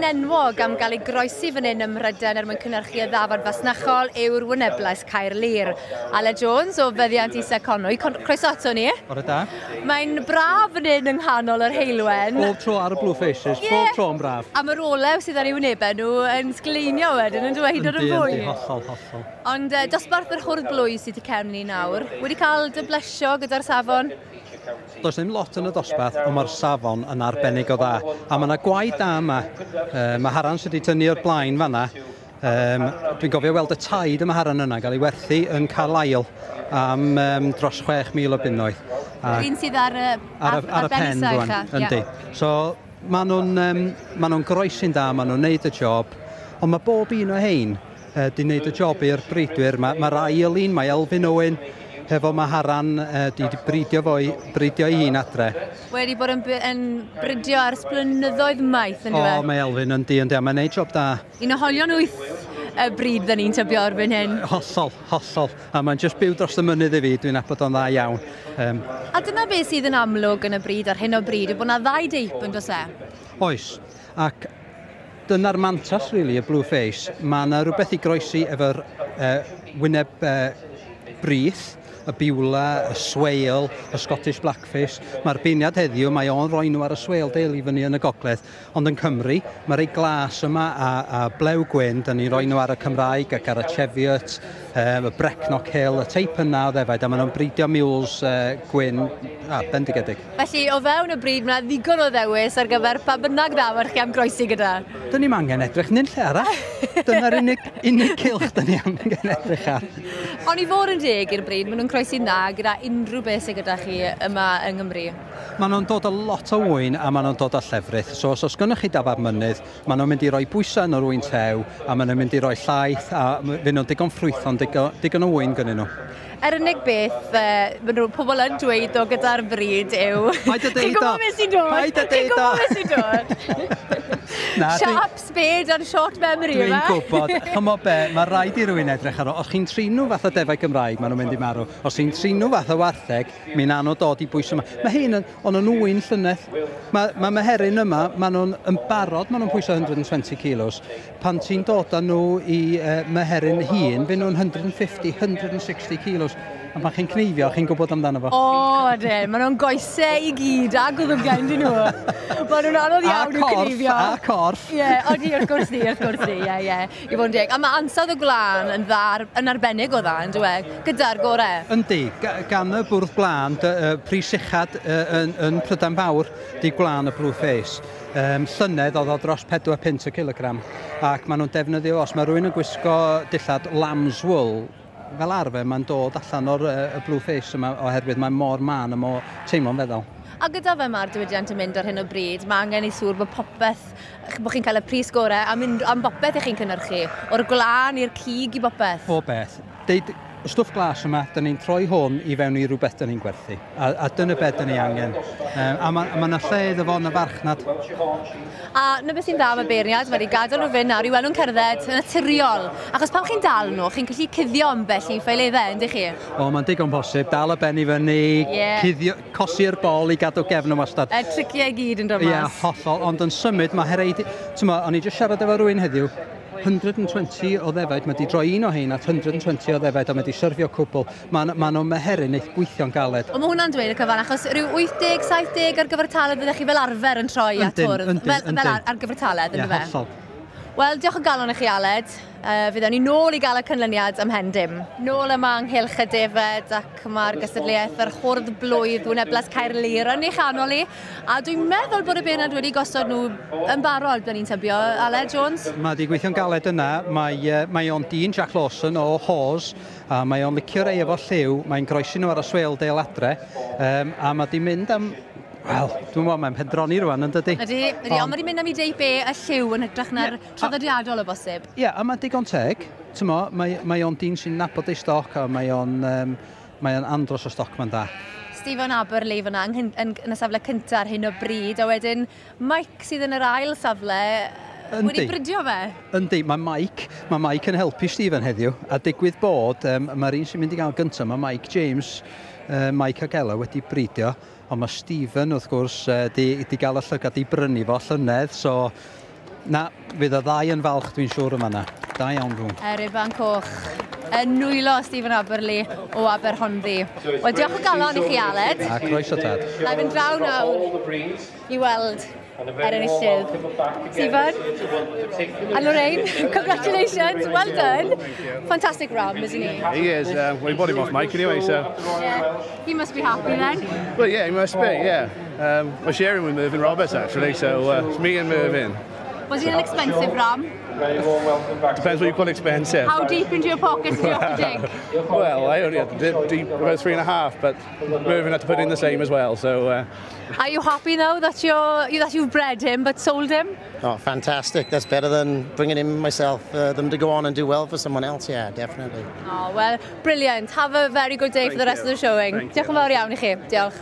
enwog am gael ei groesi fan hyn ym Mhrydain er mwyn cynhyrchu y ddafad fasnachol yw'r Wyneblais Caerlŷr. Aled Jones o Feddiant Isa Conwy, croeso ato ni. Bore da. Mae'n braf fan hyn yng nghanol yr heulwen. Bob tro ar y Blue Faces, yeah. Bob tro yn braf. A mae'r olew sydd ar ei wynebau nhw yn sgleinio wedyn, yn dweud hyd yn oed yn fwy. Yndi, hollol, hollol. Ond dosbarth yr hwrdd blwy sydd tu cefn ni nawr, wedi cael dy blesio gyda'r safon? Does ddim lot yn y dosbarth, ond mae'r safon yn arbennig o dda. A mae yna gwaed da yma. Mae Haran sydd wedi tynnu o'r blaen fanna. Dwi'n gofio weld y taid y Maharan yna gael ei werthu yn Carlisle am dros 6,000 o bunnoedd. Yr un sydd ar, ar y pen rwan. Yndi. So, maen nhw'n groesi'n da, maen nhw'n neud y job, ond mae bob un o hein di wneud y job i'r breidwyr. Mae'r ail un, mae Elfyn Owen, hefo Maharan di bridio ei hun adre. Wedi bod yn bridio ers blynyddoedd maith, yn dweud? O, mae Elfyn yn di, a mae'n neud job da. Un o holion wyth y bryd dyn ni'n tybio erbyn hyn. Hollol, hollol. A mae'n just byw dros y mynydd i fi, dwi'n nabod o'n dda iawn. A dyna beth sydd yn amlwg yn y bryd ar hyn o bryd, yw bod yna ddau deip yn does e? Oes, ac dyna'r mantas, really, y Blue Face. Mae yna rhywbeth i groesi efo'r wyneb brith, y Beulah, y Swale, y Scottish Blackface. Mae'r beirniad heddiw, mae o'n rhoi nhw ar y Swale Dale i fyny yn y gogledd. Ond yn Cymru, mae rei glas yma a blew gwyn, dyn ni'n rhoi nhw ar y Cymraeg ac ar y Cheviot, y Brecknock Hill, y teip yna o ddefaid, a maen nhw'n bridio mules gwyn, bendigedig. Felly, o fewn y bryd, mae yna ddigon o ddewis ar gyfer pa bynnag ddafad chi am groesi gyda. Dyn ni'm angen edrych nunlle arall. Dyna'r unig cylch dyn ni angen edrych ar. Ond i fod yn deg i'r bryd, maen nhw'n croesi'n dda gyda unrhyw beth sydd gyda chi yma yng Nghymru. Maen nhw'n dod â lot o wyn a maen nhw'n dod â llefrith. So os oes gennych chi dafad mynydd, maen nhw'n mynd i roi bwysau yn yr wyn tew, a maen nhw'n mynd i roi llaeth, a fy nhw'n digon ffrwython, digon o wyn gynnyn nhw. Yr unig beth maen nhw, pobl yn dweud o gyda'r bryd yw... Paid â deud o! Chi'n gwybod beth sy'n dod? Paid â Chi'n deud o! gwybod beth sy'n dod? Sharp spade and short memory, Dwi'n yma. gwybod. Ch'mo be, mae rhaid i rywun edrych ar o. Os chi'n trin nhw fath o defaid Gymraeg, maen nhw'n mynd i marw. Os chi'n trin nhw fath o wartheg, mi na nhw dod i bwys yma. Mae hyn yn, o'n nhw'n wyn llynedd. Mae meheryn yma, maen nhw'n yn barod, maen nhw'n pwyso 120 kilos. Pan ti'n dod â nhw i meheryn hun, fy nhw'n 150, 160 kilos. A pan chi'n cneifio, chi'n gwybod amdano fo. O, ydyn, maen nhw'n goesau i gyd, a gwddwgau, dyn nhw. Maen nhw'n anodd iawn i'w cneifio. A corff. Ie, odi, wrth gwrs ni, wrth gwrs ni, ie, ie. I fod yn deg. A mae ansawdd y gwlân yn dda, yn arbennig o dda, yn dyw e, gyda'r gorau. Yndi, gan y bwrdd gwlân, pris uchad yn Prydain Fawr, di gwlân y Blue Face. Llynedd oedd o dros 4 punt y kilogram, ac maen nhw'n defnyddio, os mae rhywun yn gwisgo dillad lamb's wool, fel arfer mae'n dod allan o'r y Blue Face yma oherwydd mae mor mân a mor teimlo'n feddal. A gyda fe mae'r diwydiant yn mynd ar hyn o bryd, mae angen i siŵr bod popeth, bod chi'n cael y pris gorau am bopeth i chi'n cynhyrchu, o'r gwlân i'r cig i bopeth. Pob beth. Deud, y stwff glas yma, dyn ni'n troi hwn i fewn i rhywbeth dyn ni'n gwerthu. A dyna beth dyn ni angen. A ma' 'na lle iddo fo yn y farchnad. A 'na beth sy'n dda am y beirniad, mae wedi gadael nhw fynd nawr i weld nhw'n cerdded yn naturiol. Achos pan chi'n dal nhw, chi'n gallu cuddio ambell i ffaeleddau, yndych chi? O, mae'n digon posib. Dal y ben i fyny, cuddio, cosi'r bol i gadw gefn yn wastad. Y triciau i gyd yn dod mas. Ie, hollol. Ond yn symud, mae hereid... T'mo, o'n i jyst siarad efo rhywun heddiw, 120 o ddefaid, mae di droi un o hein at 120 o ddefaid a mae di syrfio cwbl. Ma nhw'n meheryn eith gweithio'n galed. Ond mae hwnna'n dweud y cyfan, achos rhyw 80-70 ar gyfartaledd fyddech chi fel arfer yn troi at Yndyn, hwrdd. yndyn, Fel yndyn. ar gyfartaledd, Ie, yndyfe? hollol. Wel, diolch o galon i chi, Aled. Fyddwn ni nôl i gael y canlyniad ym mhen dim. Nôl yma ynghylch y defed ac mae'r gystadleuaeth yr hwrdd blwydd Wyneblas Caerlŷr yn ei chanol i. A dwi'n meddwl bod y beirniad wedi gosod nhw yn barod, byddwn ni'n tybio. Aled Jones? Mae di gweithio'n galed yna. Mae o'n dyn Jack Lawson o Hawes, a mae o'n licio rei efo lliw. Mae'n groesi nhw ar y Swale Dale adre, a mae di mynd am... Wel, dwi'n meddwl mae'n pendroni rwan, yn dydi? Ydy, ydy, ond mae di mynd am ei deip e y lliw yn hytrach na'r traddodiadol o bosib. Ie, a mae'n digon teg. T'mo, mae o'n dyn sy'n nabod ei stoc, a mae o'n andros o stoc ma'n da. Stephen Aberley fyna yn y safle cyntaf ar hyn o bryd, a wedyn Mike sydd yn yr ail safle wedi bridio fe. Yndi, mae Mike yn helpu Stephen heddiw, a digwydd bod, mae'r un sy'n mynd i gael gyntaf, mae Mike James, Mike ag Ella wedi bridio, ond mae Stephen, wrth gwrs, di gael y llygad i brynu fo llynedd, so Na, fydd y ddau yn falch, dwi'n siŵr, yma na. Da iawn nhw. Yr Iban Coch yn nwylo Stephen Aberley o Aberhonddu. Wel, diolch o galon i chi, Aled. A croeso, tad. Na i fynd draw nawr i weld yr enillydd. Stephen and Lorraine, congratulations, well done. Fantastic ram, isn't he? He is. Well, he bought him off Mike anyway, so. Yeah, he must be happy then. Well, yeah, he must be, yeah. We're sharing with Mervyn Roberts, actually, so it's me and Mervyn. Was he an expensive ram? Depends what you call expensive. How deep into your pockets did you have to dig? Well, I only had to dip deep about 3.5, but Mervyn had to put in the same as well. So, Are you happy now that you've bred him but sold him? Oh, fantastic. That's better than bringing him myself, them to go on and do well for someone else. Yeah, definitely. Oh, well, brilliant. Have a very good day for the rest you. of the showing. Thank Diolch yn fawr iawn i chi. Diolch.